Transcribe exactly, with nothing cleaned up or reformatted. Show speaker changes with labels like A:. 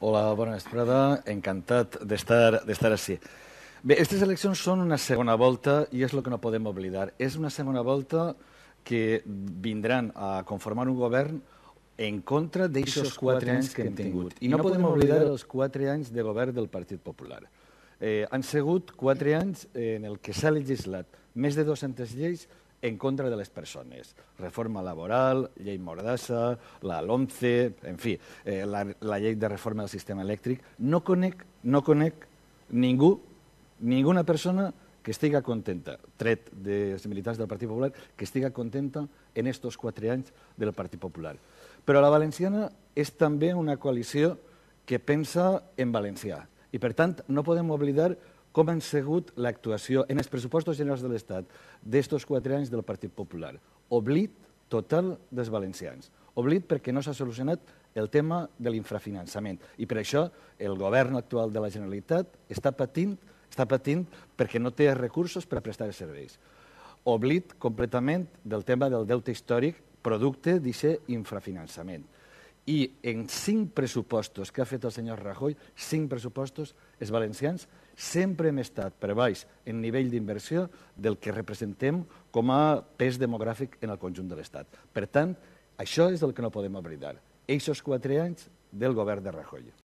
A: Hola, bona vesprada. Encantat d'estar d'estar així. Bé, aquestes eleccions són una segona volta i és el que no podem oblidar. És una segona volta que vindran a conformar un govern en contra d'aquests quatre anys que hem tingut. I no podem oblidar els quatre anys de govern del Partit Popular. Eh, han sigut quatre anys en el que s'ha legislat més de dues-centes lleis en contra de les persones. Reforma laboral, llei Mordassa, la LOMCE, en fi, eh, la, la llei de reforma del sistema elèctric. No conec, no conec ningú, ninguna persona que estiga contenta, tret dels militants del Partit Popular, que estiga contenta en estos quatre anys del Partit Popular. Però la valenciana és també una coalició que pensa en valencià. I, per tant, no podem oblidar com han sigut l'actuació en els pressupostos generals de l'Estat d'estos quatre anys del Partit Popular. Oblit total dels valencians. Oblit perquè no s'ha solucionat el tema de l'infrafinançament. I per això el govern actual de la Generalitat està patint, està patint perquè no té recursos per a prestar els serveis. Oblit completament del tema del deute històric producte d'aquest infrafinançament. I en cinc pressupostos que ha fet el senyor Rajoy, cinc pressupostos, els valencians sempre hem estat per baix en nivell d'inversió del que representem com a pes demogràfic en el conjunt de l'Estat. Per tant, això és el que no podem oblidar. Eixos quatre anys del govern de Rajoy.